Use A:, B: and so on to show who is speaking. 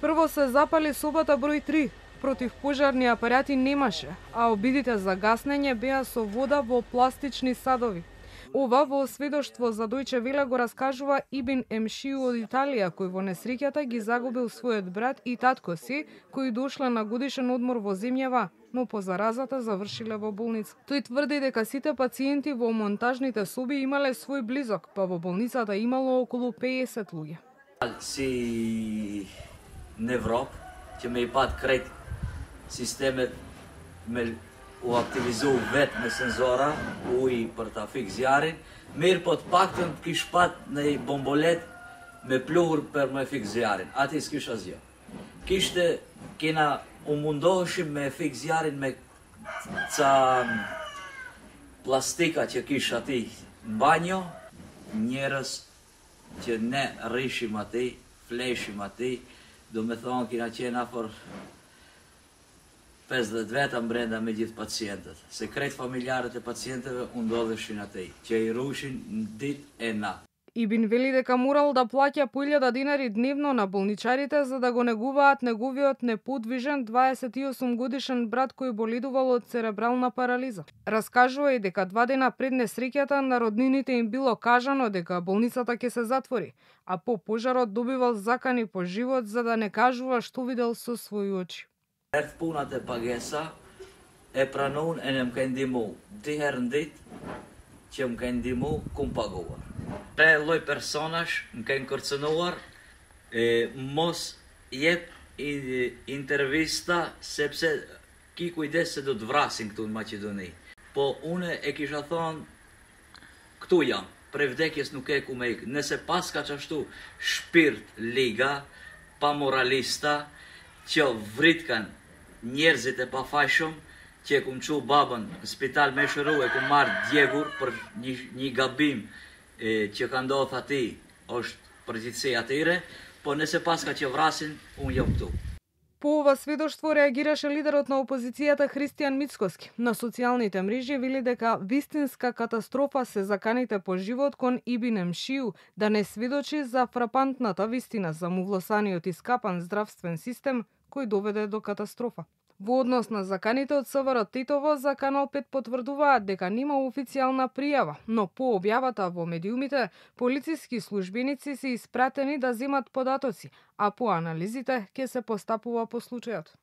A: Прво се запали собата број 3. Противпожарни апарати немаше, а обидите за гаснење беа со вода во пластични садови. Ова во сведоштво за Дојче Веле го раскажува Ибн Емшиу од Италија, кој во несреќата ги загубил својот брат и татко си, кои дошле на годишен одмор во земјава, но по заразата завршиле во болница. Тој тврди дека сите пациенти во монтажните соби имале свој близок, па во болницата имало околу 50 луѓе.
B: Si nevroop, që me I pat krejt sistemet me u aktivizu vetë me senzora, uji për ta fik zjarin, mirë po të paktën kish pat në bombolet me pluhur për me fik zjarin. Ati s'kish asgjë. Kishte, kena u mundoheshim me fik zjarin me ca plastika që kish ati në banjo, njerës që ne rrishim ati, fleshim ati, do me thonë kina qenë afor 50 veta brenda me gjithë pacientët. Se krejt familjarët e pacientëve u ndodheshin atij, që I rushin në ditë e natë.
A: Ибн вели дека морал да плаќа по 1000 динари дневно на болничарите за да го негуваат неговиот неподвижен 28 годишен брат кој боледувал од церебрална парализа. Раскажува и дека 2 дена пред несреќата на роднините им било кажано дека болницата ќе се затвори, а по пожарот добивал закани по живот за да не кажува што видел со своји очи.
B: Erdh punat e pagesa, e pranun e ne më ka ndihmu 2 herë në ditë që më ka ndihmu ku më paguar. Tre lloj personash më kanë kërcënuar, mos jep intervista sepse ki kujdes se do të vrasin këtu në Maqedoni. Po une e kisha thonë, këtu jam, prej vdekjes nuk e ku me ikë. Nëse pas ka qashtu shpirt liga, pa moralista, që vritkan njerëzit e pafajshëm, që e kum qu babën në spital me shëru, e kum marrë djegur për një gabim që ka ndodhë ati, është përgjithësi atyre, po nëse paska që vrasin, unë jam këtu.
A: По ова сведоштво реагираше лидерот на опозицијата Христијан Мицкоски. На социјалните мрежи вели дека вистинска катастрофа се заканите по живот кон Ибн Емшиу да не сведочи за фрапантната вистина за мувлосаниот и скапан здравствен систем кој доведе до катастрофа. Во однос на заканите од СВР Титово, за Канал 5 потврдуваат дека нема официјална пријава, но по објавата во медиумите, полициски службеници се испратени да земат податоци, а по анализите ќе се постапува по случајот.